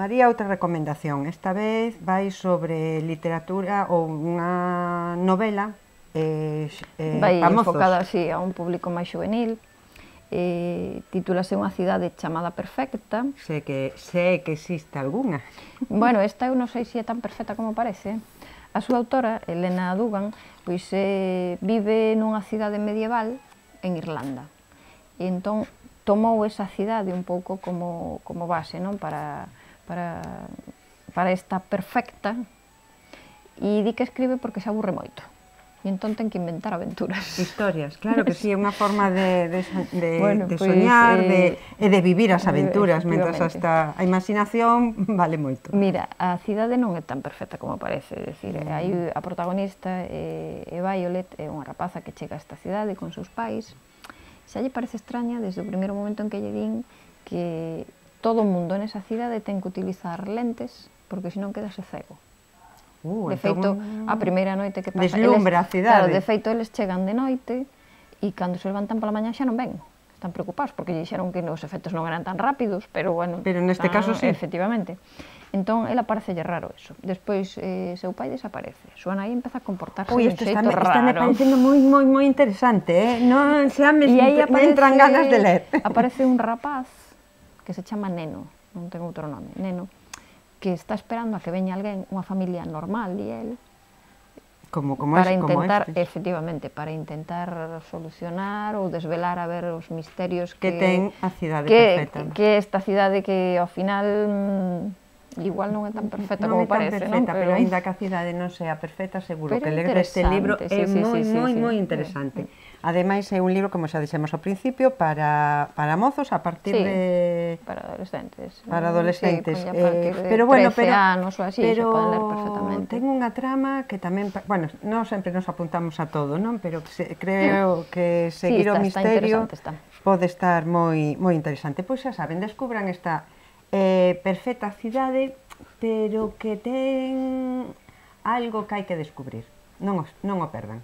María, outra recomendación. Esta vez vai sobre literatura ou unha novela vai pa mozos. enfocada así a un público máis juvenil. Titúlase Unha cidade chamada perfecta. Sé que existe algunha. Bueno, esta eu non sei se é tan perfecta como parece. A súa autora, Elena Dugan, pois vive nunha cidade medieval en Irlanda. E entón tomou esa cidade un pouco como base, non? Para esta perfecta, e di que escribe porque se aburre moito. E entón ten que inventar aventuras. Historias, claro que sí, é unha forma de Bueno, soñar e de vivir as aventuras, mentras hasta a imaginación vale moito. Mira, a cidade non é tan perfecta como parece, é dicir, hai a protagonista, Violet, é unha rapaza que chega a esta cidade con seus pais. Xa lle parece extraña desde o primeiro momento en que lle din que todo o mundo nesa cidade ten que utilizar lentes porque senón quedase cego. De feito, a primeira noite que pasa... Deslumbra a cidade. Claro, de feito, eles chegan de noite e cando se levantan pola mañá xa non ven. Están preocupados porque lle dixeron que os efectos non eran tan rápidos, pero bueno... Pero neste caso sí. Efectivamente. Entón, ela parecelle raro eso. Despois, seu pai desaparece. Súa nai empeza a comportarse de un xeito raro. Está me parecendo moi interesante, non xa me entran ganas de ler. Aparece un rapaz que se chama Neno, non ten outro nome, Neno, que está esperando a que veña alguén, unha familia normal, di el, para intentar, efectivamente, para intentar solucionar ou desvelar a ver os misterios que ten a cidade perfecta. Que esta cidade que ao final igual non é tan perfecta como parece, non? Pero aínda que a cidade non sea perfecta, seguro que ler este libro é moi interesante. Ademais, é un libro, como xa dixemos ao principio, para mozos a partir de... para adolescentes. Para adolescentes. Pero bueno, 13 anos ou así, se poden ler perfectamente. Ten unha trama que tamén... Bueno, non sempre nos apuntamos a todo, non? Pero creo que seguir o misterio pode estar moi interesante. Pois xa saben, descubran esta perfecta cidade, pero que ten algo que hai que descubrir. Non o perdan.